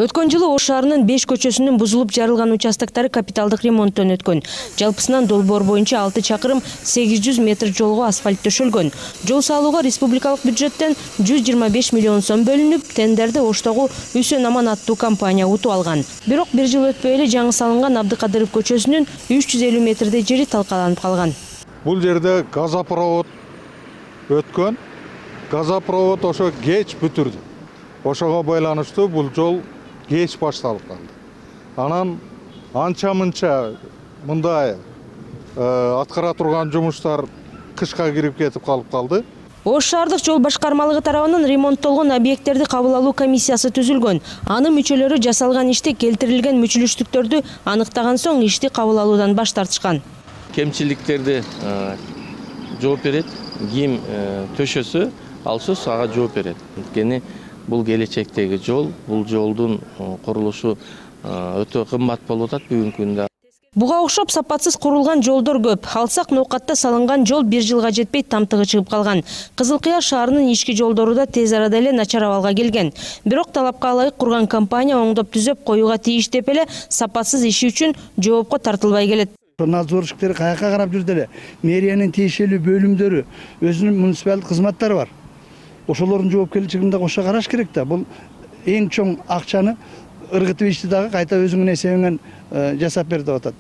Өткөн жылы Ош шаарынын 5 көчөсүнүн бузулуп жарылган участоктары капиталдык ремонттон өткөн. Жалпысынан долбоор боюнча 6 чакырым 800 метр жолго асфальт төшөлгөн. Жол салууга республикалык бюджеттен 125 миллион сом бөлүнүп, тендерди Оштогу Үсөн Аман аттуу компания утуп алган. Бирок бир жыл өтпөй эле жаңы салынган Абдыкадыров көчөсүнүн 350 метрдей жери талкаланып калган. Бул жерде газопровод өткөн. Газопровод ошо кеч бүтүрдү. Ошого байланыштуу бул жол кеч башталып калды. Анан анча-мынча мындай аткара турган жумуштар кышка кирип кетип калды. Ош шаардык жол башкармалыгы тарабынан ремонттолгон объекттерди кабыл алуу комиссиясы түзүлгөн. Анын мүчөлөрү жасалган иште келтирилген мүчүлүштүктөрдү аныктаган соң ишти кабыл алуудан баш тартышкан. Кемчиликтерди жооп берет, ким төшөсө, алсыз ага жооп берет. Анткени бул келечектеги жол, бул жолдун курулушу өтө кымбат болуп атат бүгүнкү күндө. Буга окшоп сапатсыз курулган жолдор көп. Алсак ноокатта салынган жол 1 жылга жетпей тамтыгы чыгып калган. Кызыл Кыя шаарынын ички жолдору да тез арада эле начар абалга келген. Бирок талапка ылайык курган компания оңдоп түзөп коюуга тийиш деп эле сапатсыз иши үчүн жоопко тартылбай келет. Надзорщиктер каяка карап жүрдү эле. Мэриянын тиешелүү бөлүмдөрү, өзүнүн муниципалдык кызматтары бар. Ошолордун жоопкерчилигинде кошо караш керек да. Бул эң чоң акчаны ыргытып ишти дагы кайта өзүңүн эсебиңен жасап бер деп атат.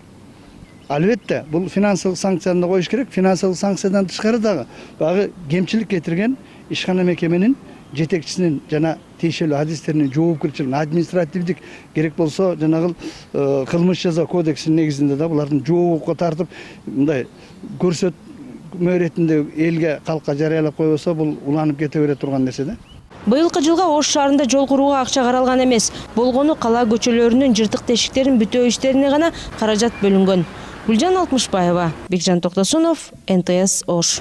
Албетте, бул финансылык санкцияны коюш керек. Финансылык санкциядан тышкары дагы багы кемчилик кетирген ишкана мекеменин жетекчисинин жана тиешелүү адистеринин жоопкерчилигин, административдик керек болсо жанагыл кылмыш жаза кодексинин негизинде да булардын жоопко тартып мындай көрсөтмө иретинде элге, калкка жарыялап койбосо бул уланып кете бере турган нерсе да. Быйылкы жылга Ош шаарында жол курууга акча каралган эмес. Болгону кала көчөлөрүнүн жыртык тешиктерин бүтөө иштерине гана каражат бөлүнгөн. Гүлжан Алтмышбаева, Бекжан Токтосунов, НТС Ош.